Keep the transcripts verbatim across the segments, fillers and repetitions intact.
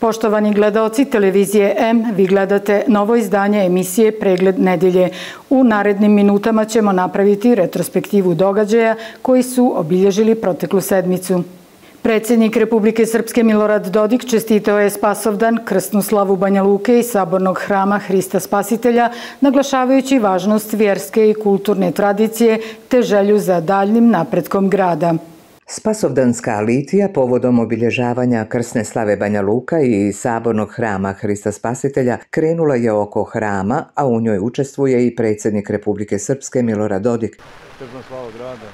Poštovani gledaoci televizije M, vi gledate novo izdanje emisije Pregled nedelje. U narednim minutama ćemo napraviti retrospektivu događaja koji su obilježili proteklu sedmicu. Predsjednik Republike Srpske Milorad Dodik čestitao je Spasovdan, krsnu slavu Banja Luke i sabornog hrama Hrista Spasitelja, naglašavajući važnost vjerske i kulturne tradicije te želju za daljnim napretkom grada. Spasovdanska litija povodom obilježavanja krsne slave Banja Luka i sabornog hrama Hrista Spasitelja krenula je oko hrama, a u njoj učestvuje i predsjednik Republike Srpske Milorad Dodik. Krsna slava grada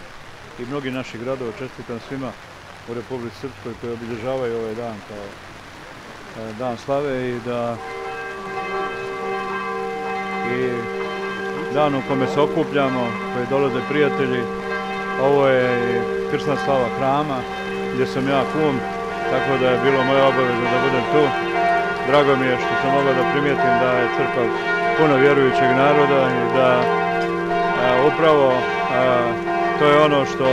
i mnogi naši gradova, čestitam svima u Republici Srpskoj koji obilježavaju ovaj dan kao dan slave i da i dan u kome se okupljamo, koji dolaze prijatelji. Ovo je krsna slava hrama gdje sam ja kum, tako da je bilo moja obaveza da budem tu. Drago mi je što sam mogao da primijetim da je crkva puno vjerujućeg naroda i da a, upravo a, to je ono što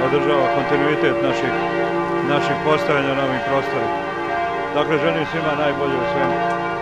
održava kontinuitet naših, naših postojanja na ovim prostorima. Dakle, želim svima najbolje u svemu.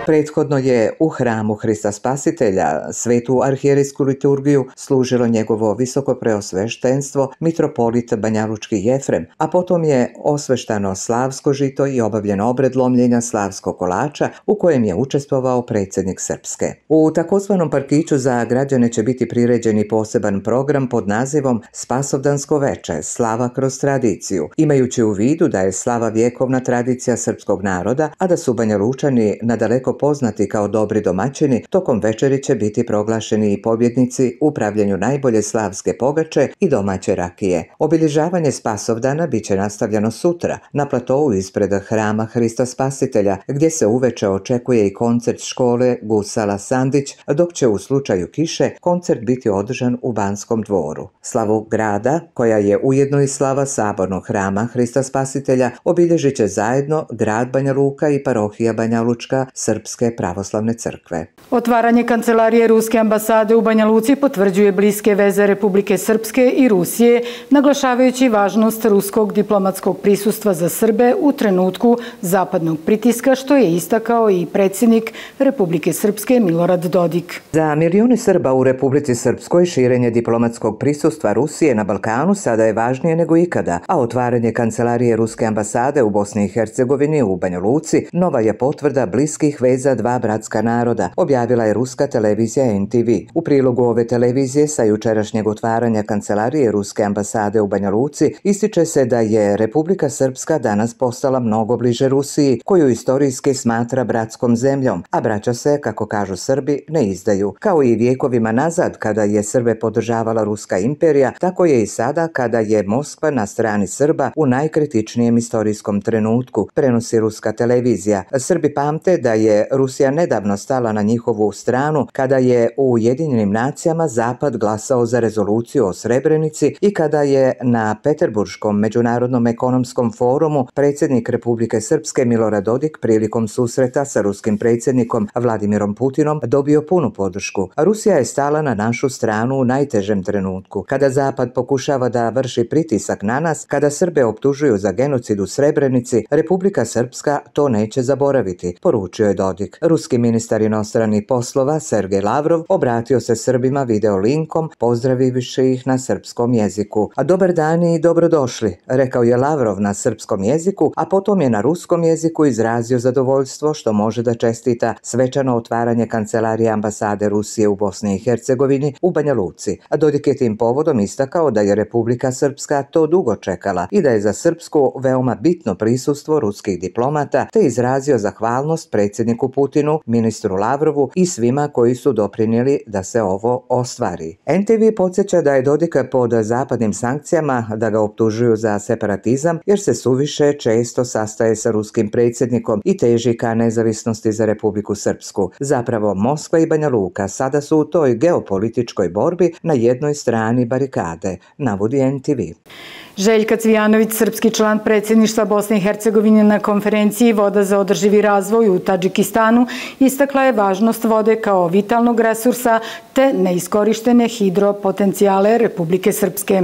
Prethodno je u hramu Hrista Spasitelja svetu arhijerejsku liturgiju služilo njegovo visoko preosveštenstvo mitropolit Banjalučki Jefrem, a potom je osveštano slavsko žito i obavljen obred lomljenja slavskog kolača u kojem je učestvovao predsjednik Srpske. U takozvanom parkiću za građane će biti priređeni poseban program pod nazivom Spasovdansko veče, slava kroz tradiciju, imajući u vidu da je slava vjekovna tradicija srpskog naroda, a da su Banjalučani nadaleko poznati kao dobri domaćini, tokom večeri će biti proglašeni i pobjednici u pravljenju najbolje slavske pogače i domaće rakije. Obilježavanje Spasovdana bit će nastavljeno sutra na platovu ispred hrama Hrista Spasitelja, gdje se uveče očekuje i koncert škole Gusala Sandić, dok će u slučaju kiše koncert biti održan u Banskom dvoru. Slavu grada, koja je ujedno i slava sabornog hrama Hrista Spasitelja, obilježit će zajedno grad Banja Luka i parohija Banjalučka Srpske pravoslavne crkve. Otvaranje kancelarije Ruske ambasade u Banja Luci potvrđuje bliske veze Republike Srpske i Rusije, naglašavajući važnost ruskog diplomatskog prisustva za Srbe u trenutku zapadnog pritiska, što je istakao i predsjednik Republike Srpske Milorad Dodik. Za milioni Srba u Republici Srpskoj širenje diplomatskog prisustva Rusije na Balkanu sada je važnije nego ikada, a otvaranje kancelarije Ruske ambasade u Bosni i Hercegovini u Banja Luci nova je potvrda bliskih veza dva bratska naroda, objavila je ruska televizija N T V. U prilogu ove televizije sa jučerašnjeg otvaranja kancelarije Ruske ambasade u Banja Luci ističe se da je Republika Srpska danas postala mnogo bliže Rusiji, koju istorijski smatra bratskom zemljom, a braća se, kako kažu Srbi, ne izdaju. Kao i vjekovima nazad, kada je Srbe podržavala Ruska imperija, tako je i sada kada je Moskva na strani Srba u najkritičnijem istorijskom trenutku, prenosi ruska televizija. Srbi pamte da je Rusija nedavno stala na njihovu stranu kada je u Ujedinjenim nacijama Zapad glasao za rezoluciju o Srebrenici i kada je na Peterburškom međunarodnom ekonomskom forumu predsjednik Republike Srpske Milorad Dodik prilikom susreta sa ruskim predsjednikom Vladimirom Putinom dobio punu podršku. Rusija je stala na našu stranu u najtežem trenutku. Kada Zapad pokušava da vrši pritisak na nas, kada Srbe optužuju za genocid u Srebrenici, Republika Srpska to neće zaboraviti, poručio je Dodik. Ruski ministar inostranih poslova Sergej Lavrov obratio se Srbima video linkom, pozdravivši ih na srpskom jeziku. A dobar dan i dobrodošli, rekao je Lavrov na srpskom jeziku, a potom je na ruskom jeziku izrazio zadovoljstvo što može da čestita svečano otvaranje kancelarije ambasade Rusije u Bosni i Hercegovini u Banja Luci. A Dodik je tim povodom istakao da je Republika Srpska to dugo čekala i da je za Srpsku veoma bitno prisustvo ruskih diplomata, te izrazio zahvalnost predsjedniku predsjedniku Putinu, ministru Lavrovu i svima koji su doprinijeli da se ovo ostvari. N T V podsjeća da je Dodik pod zapadnim sankcijama, da ga optužuju za separatizam jer se suviše često sastaje sa ruskim predsjednikom i teži ka nezavisnosti za Republiku Srpsku. Zapravo Moskva i Banja Luka sada su u toj geopolitičkoj borbi na jednoj strani barikade, navodi N T V. Željka Cvijanović, srpski član predsjedništva Bosne i Hercegovine na konferenciji Voda za održivi razvoj u Tadžikistanu, istakla je važnost vode kao vitalnog resursa te neiskorištene hidropotencijale Republike Srpske.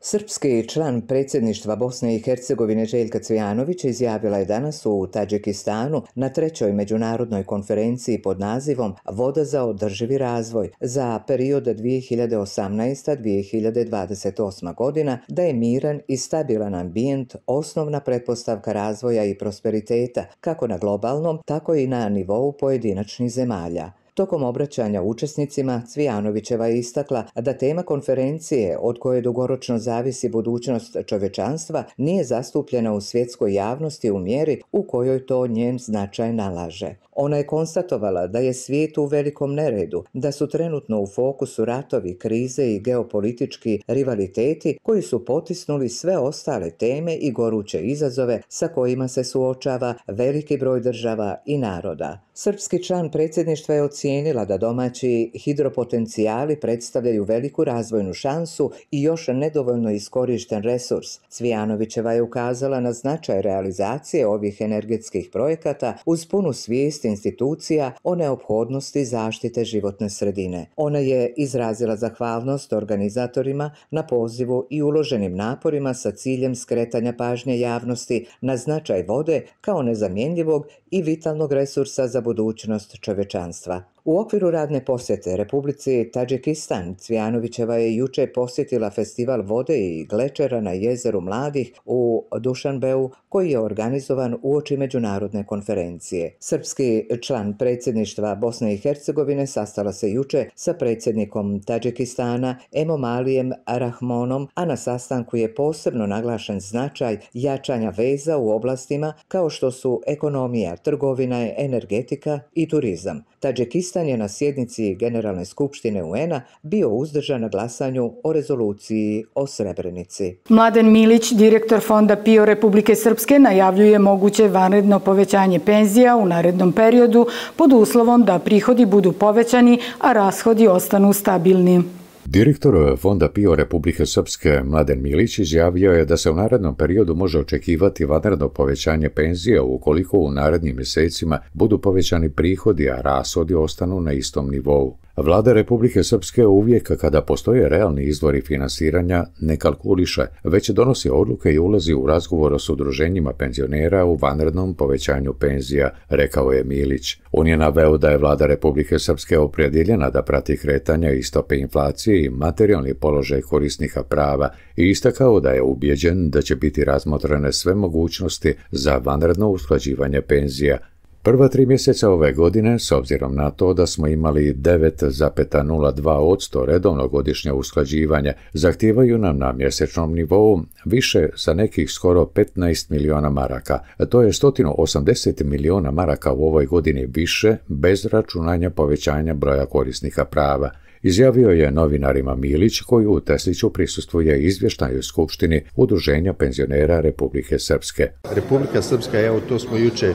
Srpski član predsjedništva Bosne i Hercegovine Željka Cvijanović izjavila je danas u Tadžikistanu na trećoj međunarodnoj konferenciji pod nazivom Voda za održivi razvoj za period dvije hiljade osamnaesta do dvije hiljade dvadeset osma godina da je miran i stabilan ambijent osnovna pretpostavka razvoja i prosperiteta kako na globalnom, tako i na nivou pojedinačnih zemalja. Tokom obraćanja učesnicima, Cvijanovićeva je istakla da tema konferencije, od koje dugoročno zavisi budućnost čovječanstva, nije zastupljena u svjetskoj javnosti u mjeri u kojoj to njen značaj nalaže. Ona je konstatovala da je svijet u velikom neredu, da su trenutno u fokusu ratovi, krize i geopolitički rivaliteti koji su potisnuli sve ostale teme i goruće izazove sa kojima se suočava veliki broj država i naroda. Srpski član predsjedništva je ocijenila da domaći hidropotencijali predstavljaju veliku razvojnu šansu i još nedovoljno iskorišten resurs. Cvijanovićeva je ukazala na značaj realizacije ovih energetskih projekata uz punu svijest institucija o neophodnosti zaštite životne sredine. Ona je izrazila zahvalnost organizatorima na pozivu i uloženim naporima sa ciljem skretanja pažnje javnosti na značaj vode kao nezamjenjivog i vitalnog resursa za budućnost čovječanstva. U okviru radne posjete Republici Tadžikistan, Cvijanovićeva je juče posjetila festival vode i glečera na jezeru Mladih u Dušanbeu, koji je organizovan uoči međunarodne konferencije. Srpski član predsjedništva Bosne i Hercegovine sastala se juče sa predsjednikom Tadžikistana Emomalijem Rahmonom, a na sastanku je posebno naglašen značaj jačanja veza u oblastima kao što su ekonomija, trgovina, energetika i turizam. Tadžikistan je na sjednici Generalne skupštine U N-a bio uzdržan na glasanju o rezoluciji o Srebrenici. Mladen Milić, direktor Fonda P I O Republike Srpske, najavljuje moguće vanredno povećanje penzija u narednom periodu pod uslovom da prihodi budu povećani, a rashodi ostanu stabilni. Direktor Fonda P I O Republike Srpske Mladen Milić izjavio je da se u narednom periodu može očekivati vanredno povećanje penzija ukoliko u narednim mjesecima budu povećani prihodi, a rashodi ostanu na istom nivou. Vlada Republike Srpske uvijek kada postoje realni izvori finansiranja ne kalkuliše, već donosi odluke i ulazi u razgovor s udruženjima penzionera u vanrednom povećanju penzija, rekao je Milić. On je naveo da je Vlada Republike Srpske opredjeljena da prati kretanja i stope inflacije i materijalni položaj korisnika prava i istakao da je ubjeđen da će biti razmotrene sve mogućnosti za vanredno usklađivanje penzija. Prva tri mjeseca ove godine, s obzirom na to da smo imali devet zarez nula dva posto redovno godišnje usklađivanje, zahtijevaju nam na mjesečnom nivou više za nekih skoro petnaest miliona maraka. To je sto osamdeset miliona maraka u ovoj godini više, bez računanja povećanja broja korisnika prava. Izjavio je novinarima Milić, koji u Tesliću prisustvuje izvještaju Skupštini Udruženja penzionera Republike Srpske. Republika Srpska, evo to smo juče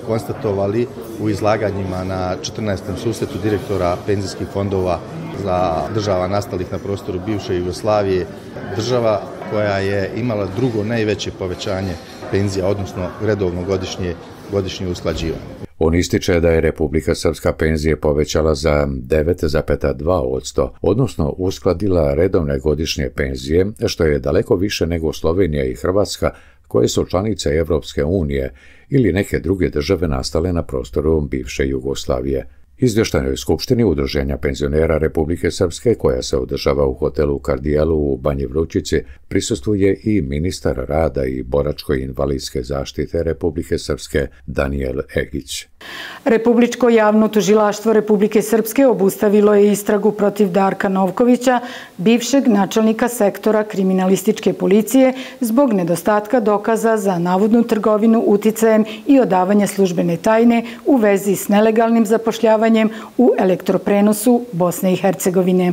konstatovali u izlaganjima na četrnaestom susretu direktora penzijskih fondova za država nastalih na prostoru bivše Jugoslavije, država koja je imala drugo najveće povećanje penzija, odnosno redovno godišnje, godišnje usklađivanje. On ističe da je Republika Srpska penzije povećala za devet zarez dva posto, odnosno uskladila redovne godišnje penzije, što je daleko više nego Slovenija i Hrvatska, koje su članice Evropske unije ili neke druge države nastale na prostoru bivše Jugoslavije. Izvještajnoj skupštini Udruženja penzionera Republike Srpske, koja se održava u hotelu Kardijelu u Banji Vrućici, prisustvuje i ministar rada i boračko-invalidske zaštite Republike Srpske Danijel Egić. Republičko javno tužilaštvo Republike Srpske obustavilo je istragu protiv Darka Novkovića, bivšeg načelnika sektora kriminalističke policije, zbog nedostatka dokaza za navodnu trgovinu uticajem i odavanje službene tajne u vezi s nelegalnim zapošljavanjem u elektroprenosu Bosne i Hercegovine.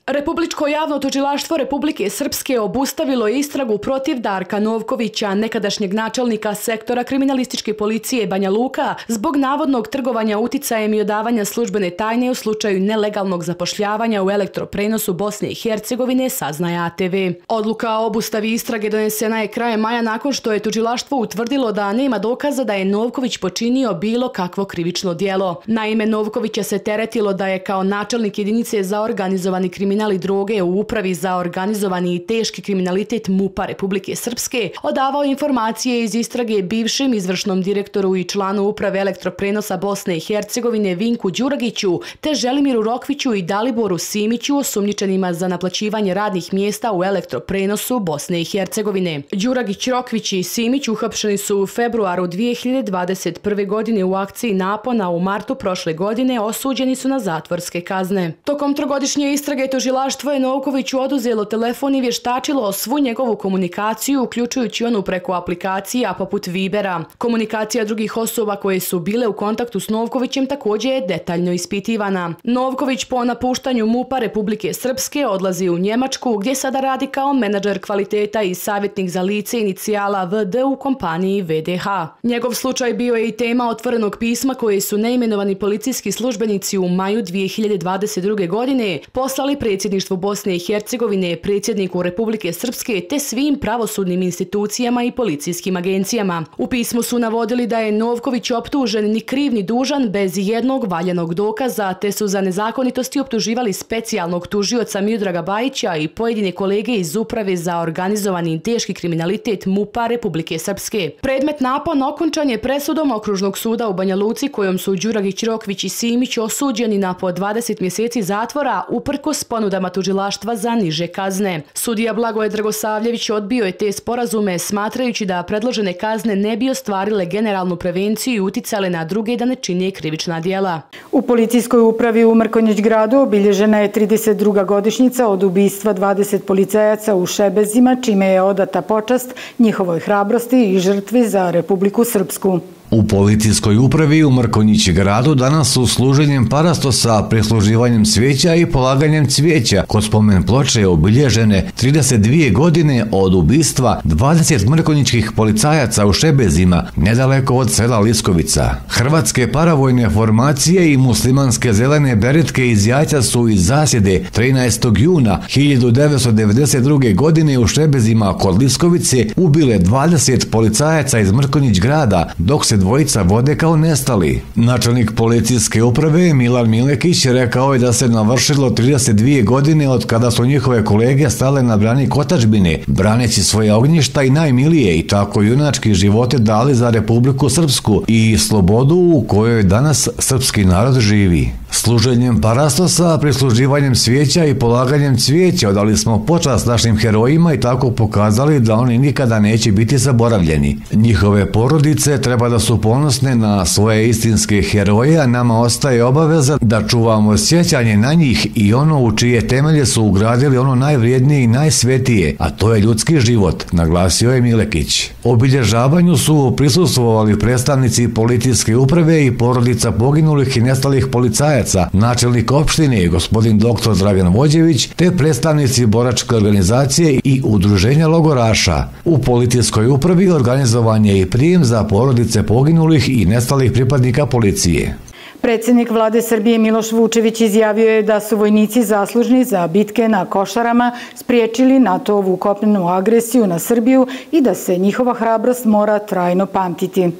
Republičko javno tužilaštvo Republike Srpske obustavilo je istragu protiv Darka Novkovića, nekadašnjeg načelnika sektora kriminalističke policije Banja Luka, zbog navodnog trgovanja uticajem i odavanja službene tajne u slučaju nelegalnog zapošljavanja u elektroprenosu Bosne i Hercegovine, saznaje A T V. Odluka o obustavi istrage donesena je krajem maja nakon što je tužilaštvo utvrdilo da nema dokaza da je Novković počinio bilo kakvo krivično djelo. Naime, Novkovića se teretilo da je kao načelnik jedinice za organizovani kriminal i droge u Upravi za organizovani i teški kriminalitet M U P-a Republike Srpske odavao informacije iz istrage bivšem izvršnom direktoru i članu Uprave elektroprenosa Bosne i Hercegovine Vinku Đuragiću te Želimiru Rokviću i Daliboru Simiću, osumnjičenima za naplaćivanje radnih mjesta u elektroprenosu Bosne i Hercegovine. Đuragić, Rokvić i Simić uhapšeni su u februaru dvije hiljade dvadeset prve. godine u akciji napona, u martu prošle godine osuđeni su na zatvorske kazne. Tokom trogodišnje istrage tužilaštvo je Novkoviću oduzelo telefon i vještačilo svu njegovu komunikaciju, uključujući onu preko aplikacija poput Vibera. Komunikacija drugih osoba koje su bile u kontaktu s Novkovićem također je detaljno ispitivana. Novković po napuštanju M U P-a Republike Srpske odlazi u Njemačku, gdje sada radi kao menadžer kvaliteta i savjetnik za lice inicijala V D u kompaniji V D H. Njegov slučaj bio je i tema otvorenog pisma koje su neimenovani policijski službenici u maju dvije hiljade dvadeset druge. godine poslali predsjedništvu Bosne i Hercegovine, predsjedniku Republike Srpske te svim pravosudnim institucijama i policijskim agencijama. U pismu su navodili da je Novković optužen ni kriv ni dužan bez jednog valjanog dokaza, te su za nezakonitosti optuživali specijalnog tužioca Miodraga Bajića i pojedine kolege iz Uprave za organizovani i teški kriminalitet M U P-a Republike Srpske. Predmet napon okončan je presudom Okružnog suda u Banja Luci, kojom su Đuragić, Rokvić i Simić osuđeni na po dvadeset mjeseci zatvora uprkos ponudama tužilaštva za niže kazne. Sudija Blagoje Dragosavljević odbio je te sporazume, smatrajući da predložene kazne ne bi ostvarile generalnu prevenciju i uticale na druge da ne čine krivična djela. U policijskoj upravi u Mrkonjić gradu obilježena je trideset druga godišnjica od ubistva dvadeset policajaca u Šebezima, čime je odata počast njihovoj hrabrosti i žrtvi za Republiku Srpsku. U policijskoj upravi u Mrkonjić gradu danas su služenjem parastosa, prisluživanjem cvijeća i polaganjem cvijeća kod spomen ploče obilježene trideset dvije godine od ubistva dvadeset mrkonjičkih policajaca u Šebezima, nedaleko od sela Liskovica. Hrvatske paravojne formacije i muslimanske zelene beretke iz Jajca su iz zasjede trinaestog juna hiljadu devetsto devedeset druge. godine u Šebezima kod Liskovice ubile dvadeset policajaca iz Mrkonjić grada, dok se dvojica vode kao nestali. Načelnik policijske uprave Milan Milekić rekao je da se navršilo trideset dvije godine od kada su njihove kolege stale na branik otadžbine, braneći svoje ognjišta i najmilije, i tako junački živote dali za Republiku Srpsku i slobodu u kojoj danas srpski narod živi. Služenjem parastosa, prisluživanjem svijeća i polaganjem cvijeća odali smo počast našim herojima i tako pokazali da oni nikada neće biti zaboravljeni. Njihove porodice treba da su ponosne na svoje istinske heroje, a nama ostaje obaveza da čuvamo sjećanje na njih i ono u čije temelje su ugradili ono najvrijednije i najsvetije, a to je ljudski život, naglasio je Milekić. Obilježavanju su prisustvovali predstavnici policijske uprave i porodica poginulih i nestalih policajaca, načelnik opštine gospodin doktor Dragan Vođević, te predstavnici boračke organizacije i udruženja logoraša. U policijskoj upravi organizovan je i prijem za porodice poginulih i nestalih pripadnika policije. Predsjednik vlade Srbije Miloš Vučević izjavio je da su vojnici zaslužni za bitke na Košarama spriječili NATO-ovu kopnenu agresiju na Srbiju i da se njihova hrabrost mora trajno pamtiti.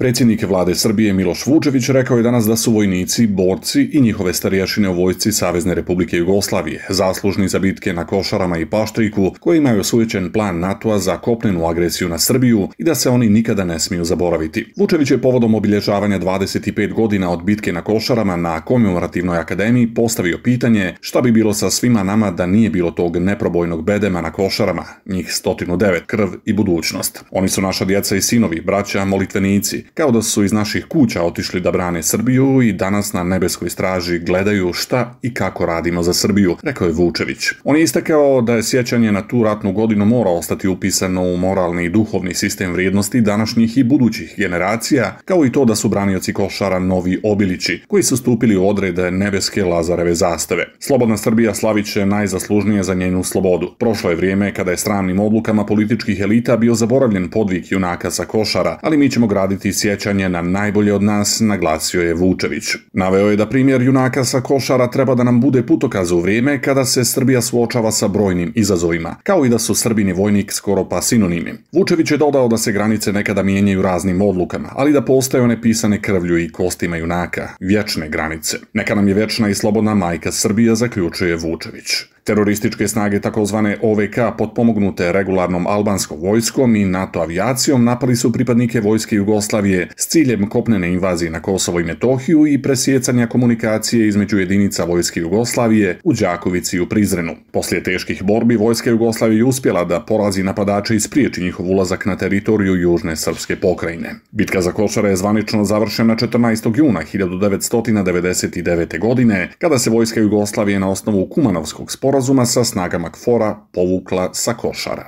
Predsjednik vlade Srbije Miloš Vučević rekao je danas da su vojnici, borci i njihove starješine u vojsci Savezne Republike Jugoslavije zaslužni za bitke na Košarama i Paštriku, koji imaju osvojećen plan NATO-a za kopnenu agresiju na Srbiju i da se oni nikada ne smiju zaboraviti. Vučević je povodom obilježavanja dvadeset pet godina od bitke na Košarama na Komemorativnoj akademiji postavio pitanje šta bi bilo sa svima nama da nije bilo tog neprobojnog bedema na Košarama, njih sto devet, krv i budućnost. Oni su naša djeca i sinovi, braća, molitvenici, kao da su iz naših kuća otišli da brane Srbiju i danas na nebeskoj straži gledaju šta i kako radimo za Srbiju, rekao je Vučević. On je istakao da je sjećanje na tu ratnu godinu mora ostati upisano u moralni i duhovni sistem vrijednosti današnjih i budućih generacija, kao i to da su branioci Košara novi Obilići, koji su stupili u odrede nebeske Lazareve zastave. Slobodna Srbija slavit će najzaslužnije za njenu slobodu. Prošlo je vrijeme kada je sramnim odlukama političkih elita bio zaboravljen podvig junaka sa Košara, ali mi ćemo graditi sjećanje na najbolje od nas, naglasio je Vučević. Naveo je da primjer junaka sa Košara treba da nam bude putokaz u vrijeme kada se Srbija suočava sa brojnim izazovima, kao i da su Srbin i vojnik skoro pa sinonimi. Vučević je dodao da se granice nekada mijenjaju raznim odlukama, ali da postoje one pisane krvlju i kostima junaka, vječne granice. Neka nam je vječna i slobodna majka Srbija, zaključuje Vučević. Terorističke snage takozvane O V K potpomognute regularnom albanskom vojskom i NATO avijacijom napali su pripadnike vojske Jugoslavije s ciljem kopnene invazije na Kosovo i Metohiju i presjecanja komunikacije između jedinica vojske Jugoslavije u Đakovici i u Prizrenu. Poslije teških borbi vojska Jugoslavije je uspjela da porazi napadače i spriječi njihov ulazak na teritoriju južne srpske pokrajine. Bitka za Košare je zvanično završena četrnaestog juna hiljadu devetsto devedeset devete. godine, kada se vojska Jugoslavije na osnovu Kumanovskog sporazuma sa snagama K F O R-a povukla sa Košara.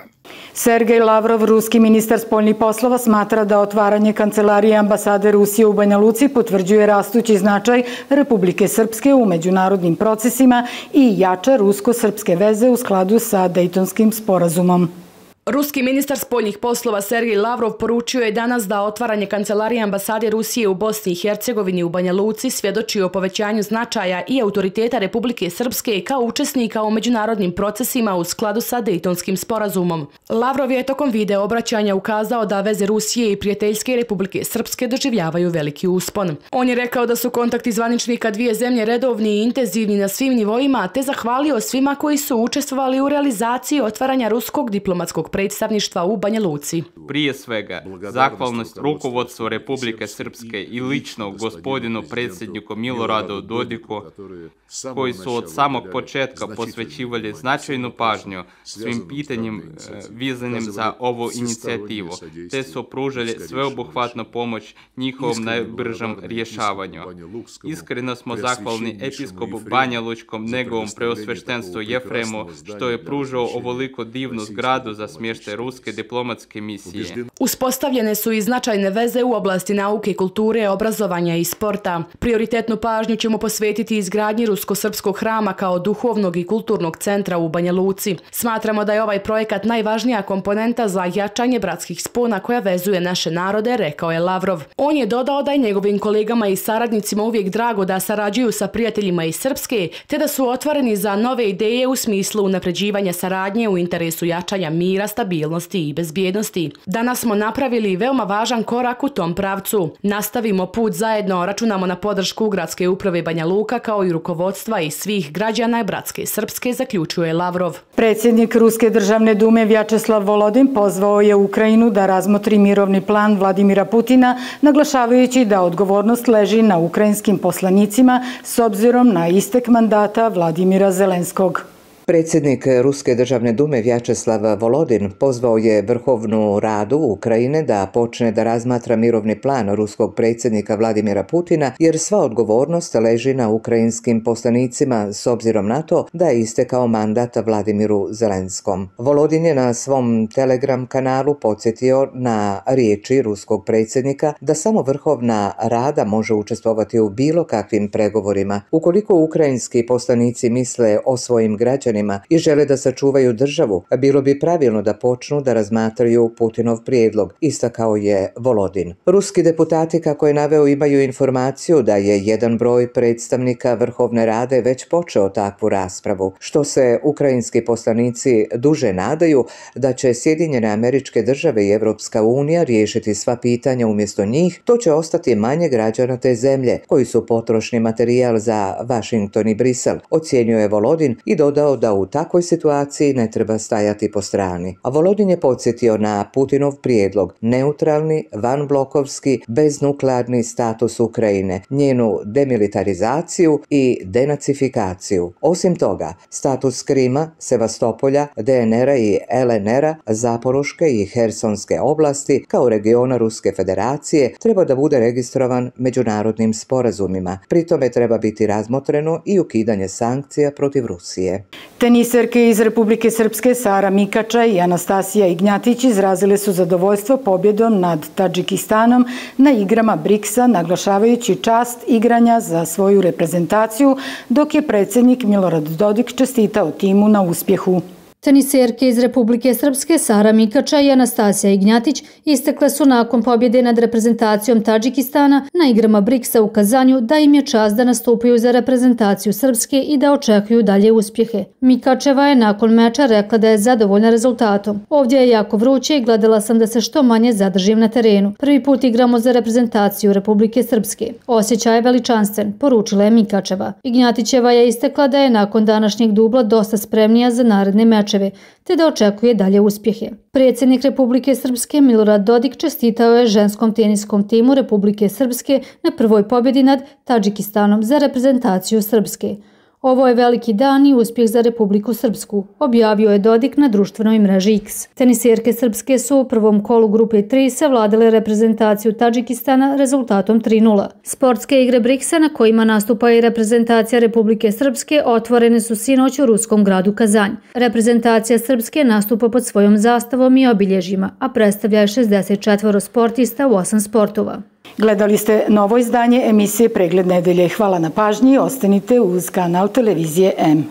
Sergej Lavrov, ruski ministar spoljnih poslova, smatra da otvaranje kancelarije ambasade Rusije u Banja Luci potvrđuje rastući značaj Republike Srpske u međunarodnim procesima i jača rusko-srpske veze u skladu sa Dejtonskim sporazumom. Ruski ministar spoljnih poslova Sergej Lavrov poručio je danas da otvaranje kancelarije ambasade Rusije u Bosni i Hercegovini u Banja Luci svjedoči o povećanju značaja i autoriteta Republike Srpske kao učesnika u međunarodnim procesima u skladu sa Dejtonskim sporazumom. Lavrov je tokom video obraćanja ukazao da veze Rusije i prijateljske Republike Srpske doživljavaju veliki uspon. On je rekao da su kontakti zvaničnika dvije zemlje redovni i intenzivni na svim nivoima, te zahvalio svima koji su učestvovali u realizaciji otvaranja ruskog diplomatskog predstavništva u Banja Luci. Prije svega, zahvalnost rukovodstvu Republike Srpske i lično gospodinu predsjedniku Miloradu Dodiku, koji su od samog početka posvećivali značajnu pažnju svim pitanjem vezanim za ovu inicijativu, te su pružali sveobuhvatnu pomoć njihovom najbržem rješavanju. Iskreno smo zahvalni episkopu Banja Lučkom, njegovom preosveštenstvu Jefremu, što je pružao ovoliko divnu zgradu za smještaj ruske diplomatske misije. Uspostavljene su i značajne veze u oblasti nauke, kulture, obrazovanja i sporta. Prioritetnu pažnju ćemo posvetiti izgradnji rusko-srpskog hrama kao duhovnog i kulturnog centra u Banja Luci. Smatramo da je ovaj projekat najvažnija komponenta za jačanje bratskih spona koja vezuje naše narode, rekao je Lavrov. On je dodao da je njegovim kolegama i saradnicima uvijek drago da sarađuju sa prijateljima iz Srpske, te da su otvoreni za nove ideje u smislu unapređivanja saradnje u interesu jačanja mira, stabilnosti i bezbjednosti. Danas smo napravili veoma važan korak u tom pravcu. Nastavimo put zajedno, računamo na podršku Gradske uprave Banja Luka kao i rukovodstva i svih građana Bratske Srpske, zaključuje Lavrov. Predsjednik Ruske državne dume Vjačeslav Volodin pozvao je Ukrajinu da razmotri mirovni plan Vladimira Putina, naglašavajući da odgovornost leži na ukrajinskim poslanicima s obzirom na istek mandata Vladimira Zelenskog. Predsjednik Ruske državne dume Vjačeslav Volodin pozvao je Vrhovnu radu Ukrajine da počne da razmatra mirovni plan ruskog predsjednika Vladimira Putina, jer sva odgovornost leži na ukrajinskim poslanicima s obzirom na to da je istekao mandat Vladimiru Zelenskom. Volodin je na svom Telegram kanalu podsjetio na riječi ruskog predsjednika da samo Vrhovna rada može učestvovati u bilo kakvim pregovorima. Ukoliko ukrajinski poslanici misle o svojim građanima građanima i žele da sačuvaju državu, bilo bi pravilno da počnu da razmatraju Putinov prijedlog, istakao je Volodin. Ruski deputati, kako je naveo, imaju informaciju da je jedan broj predstavnika Vrhovne Rade već počeo takvu raspravu, što se ukrajinski poslanici duže nadaju da će Sjedinjene Američke Države i Evropska unija riješiti sva pitanja umjesto njih. To će ostati manje građana te zemlje, koji su potrošni materijal za Washington i Brisel, ocjenjuje Volodin i dodao da u takvoj situaciji ne treba stajati po strani. A Volodin je podsjetio na Putinov prijedlog, neutralni, vanblokovski, beznuklearni status Ukrajine, njenu demilitarizaciju i denacifikaciju. Osim toga, status Krima, Sevastopolja, D N R-a i L N R-a, Zaporoške i Hersonske oblasti kao regiona Ruske federacije treba da bude registrovan međunarodnim sporazumima. Pri tome treba biti razmotreno i ukidanje sankcija protiv Rusije. Teniserke iz Republike Srpske Sara Mikača i Anastasija Ignjatić izrazile su zadovoljstvo pobjedom nad Tadžikistanom na igrama briksa, naglašavajući čast igranja za svoju reprezentaciju, dok je predsjednik Milorad Dodik čestitao timu na uspjehu. Teniserke iz Republike Srpske Sara Mikača i Anastasija Ignjatić istekle su nakon pobjede nad reprezentacijom Tadžikistana na igrama briksa u Kazanju da im je čast da nastupaju za reprezentaciju Srpske i da očekuju dalje uspjehe. Mikačeva je nakon meča rekla da je zadovoljna rezultatom. Ovdje je jako vruće i gledala sam da se što manje zadržim na terenu. Prvi put igramo za reprezentaciju Republike Srpske. Osjećaj je veličanstven, poručila je Mikačeva. Ignjatićeva je istekla da je nakon današnjeg dubla dosta spremnija za naredne meče, te da očekuje dalje uspjehe. Predsjednik Republike Srpske Milorad Dodik čestitao je ženskom teniskom timu Republike Srpske na prvoj pobjedi nad Tadžikistanom za reprezentaciju Srpske. Ovo je veliki dan i uspjeh za Republiku Srpsku, objavio je Dodik na društvenoj mreži X. Teniserke Srpske su u prvom kolu grupe tri savladale reprezentaciju Tadžikistana rezultatom tri nula. Sportske igre briksa na kojima nastupa i reprezentacija Republike Srpske otvorene su sinoć u ruskom gradu Kazanj. Reprezentacija Srpske nastupa pod svojom zastavom i obilježjima, a predstavlja je šezdeset četvoro sportista u osam sportova. Gledali ste novo izdanje emisije Pregled nedelje. Hvala na pažnji i ostanite uz kanal televizije M.